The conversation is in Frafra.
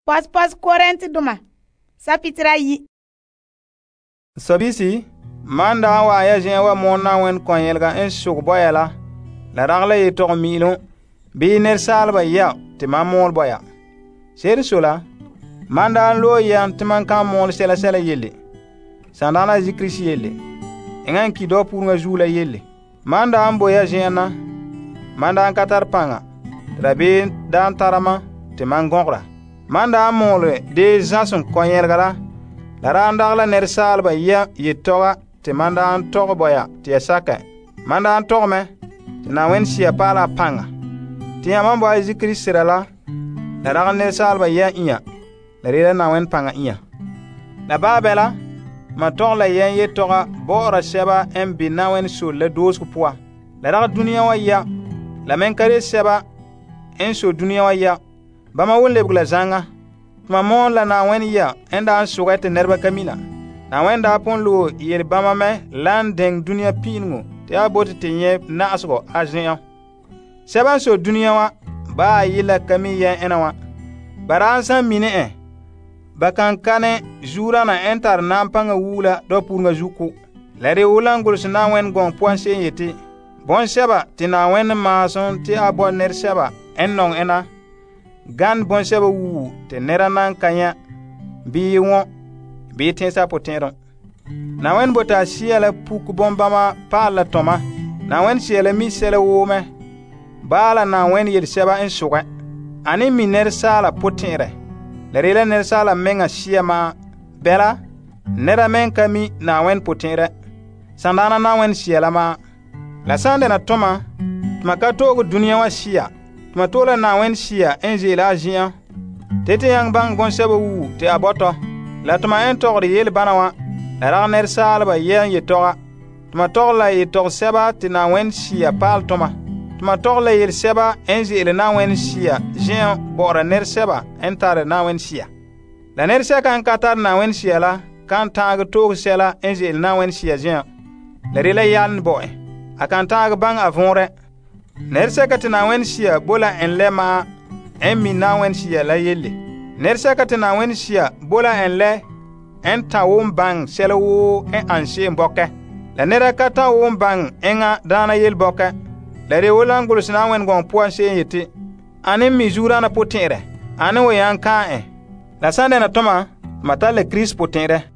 Pos Korintedoma sapitira yi. Sabisi, man da wa ya jen wa mon na wen kon yelga en sug boya la ragla ye tog miilum bi ner salba ya te man mol boya. Ser sola, man da lo yan te man kan mol sela sela yelle. Sandana zikrisi yelle. Engan ki do purnga zula yelle. Man da boya jen na, man da katar panga. Rabe dan tarama te man gongra. Man da mol de zasun kon yelga la randagla ner salba ya ye toga te man da tog boya te saka. Man da tog me te na wen sia pala panga. Te ya man boya zikrisi la rag ner salba ya iya. La rela na wen panga iya. La babela ma tog la yen ye toga bora seba en bi na wen sul la dosku poa. La rag dunia wa ya. La men kare seba en so dunia wa ya. Bama won lebgla zanga. Tuma mon la na wen ya en da suga te nerba kamina. Na wen da pon lo yel bama me lan deng dunia pingu te abote te nye na asgo ajen. Seba so dunia wa ba yila kami ya enawa. Baransa mine bakan kane jura na entar nampanga wula do purnga juku. Lare ulangul na wen gong puan se yeti. Bon seba te na wen mason te abo ner seba en nong ena. Gan bon seba wu te nera nan kanya bi won bi tensa potenron. Na wen bota siela puk bombama pala toma. Na wen siela mi sele wome. Bala na wen yel seba en suga. Ani mi ner sala potenre. La rela ner sala menga sia ma bela nera men kami na wen potenre. Sandana na wen siela ma. La sande na toma tuma ka togo dunia wa sia. Tuma tola na wen sia en zela ajian. Tete yang bang bon seba wu te aboto. La tuma en togri yel bana wa. La rag ner salba yen ye toga. Tuma togla ye tog seba te na wen sia pal toma. Tuma togla yel seba en zela na wen sia jian bora ner seba en tare na wen sia. La ner seka en katar na wen sia la kan tag tog sela en zela na wen sia jian. La rela yan boy. Akan tag bang avonre. Ner seka te na wen sia bola en lema en mi na wen sia la yelle. Ner seka te na wen sia bola en le en ta won bang sela wo en anse mboke. La nera ka ta won bang enga dana yel boke. La re wolangul sina wen gong puan se yeti. Ane mi jura na potenre. Ane wo yan kan La sande na toma mata le Christ potenre.